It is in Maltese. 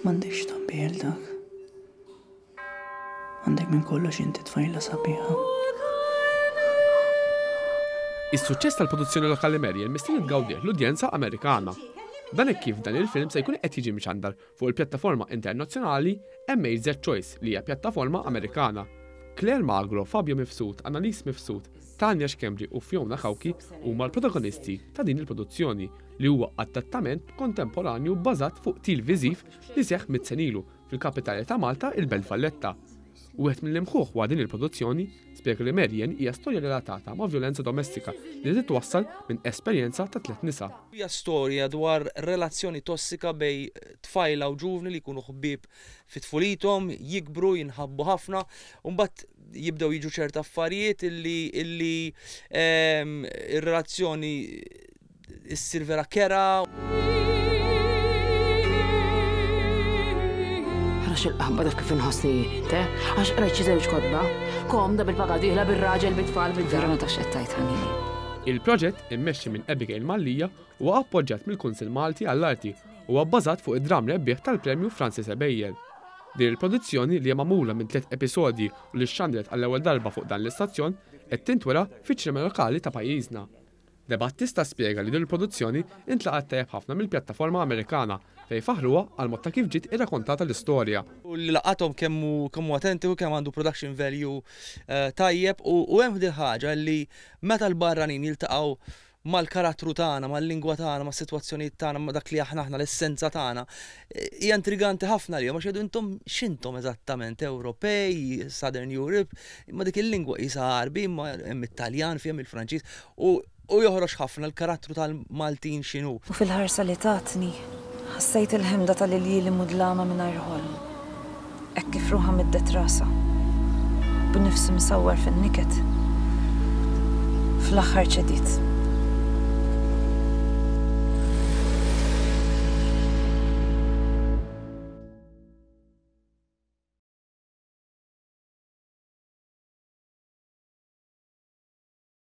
M'għandekx tgħabbi għal dak. Għandek minn kollox inti tfajla sabiħa. Is-suċċess tal-produzzjoni lokali Mariel mistenni tgawdih l-udjenza Amerikana. Dan hekk kif dan il-film se jkun qed jiġi mxandar fuq il-pjattaforma internazzjonali MHZ Choice li hija pjattaforma Amerikana. Claire Magro, Fabio Mifsud, Annalise Mifsud, Tania Schembri u Fiona Cauchi huma l-protagonisti ta' din il-produzzjoni li huwa adattament kontemporanju bbażat fuq qtil viżiv li seħħ mit sena ilu fil-kapitali ta' Malta, il-Belt Valletta. Wieħed mill-imħuħ wara din il-produzzjoni spjega li Marian hija storja relatata ma' vjolenza domestika li titwassal minn esperjenza ta' tlett nisa. Hija storja dwar relazzjoni tossika bejn tfajla u ġuvni li jkunu ħbieb fi tfulithom, jikbru, jinħabbu ħafna, u mbagħad jibdew jiġu ċerta affarijiet illi illi ir-relazzjoni issir vera kerha. Għax il-qaħba taf kif inħossni jien, te? Għax qrajt xi żewġ kotba. Komda bil-paga dieħla bir-raġel bit-tfal bid Vera ma tafx qed tgħid ħanini. Il-proġett, immexxi minn Abigail Mallia, huwa appoġġjat mill-Kunsill Malti għall-Arti u huwa bbażat fuq id-dramm rebbieħ tal-Premju Francis Ebejer. Din il-produzzjoni, li hija magħmula minn tlett episodji u li xxandret għall-ewwel darba fuq dan l-istazzjon, qed tintwera fiċ-ċinema lokali ta' pajjiżna. De Battista spjega li din il-produzzjoni intlaqgħet tajjeb ħafna mill-pjattaforma Amerikana fejn faħħruha għall-mod ta' kif ġiet irrakontata l-istorja. U li laqathom kemm hu kemm hu atentiku, kemm għandu production value tajjeb u hemm din il-ħaġa li meta l-barranin jiltaqgħu mal-karattru tagħna, mal-lingwa tagħna, mas-sitwazzjonijiet tagħna, ma' dak li aħna aħna, l-essenza tagħna, hija intriganti ħafna għalihom għax jgħidu intom x'intom eżattament, Ewropej, Southern Europe, imma dik il-lingwa qisha Għarbi, imma hemm it-Taljan fiha, hemm il-Franċiż, u u joħroġ ħafna l-karattru tal-Maltin x'inhu. U fil-ħarsa li tatni, ħassejt il-ħemda tal-iljieli mudlama mingħajr ħolm. Hekk kif ruħha middet rasha, b'nifs imsawwar fin-niket, fl-aħħar ċediet.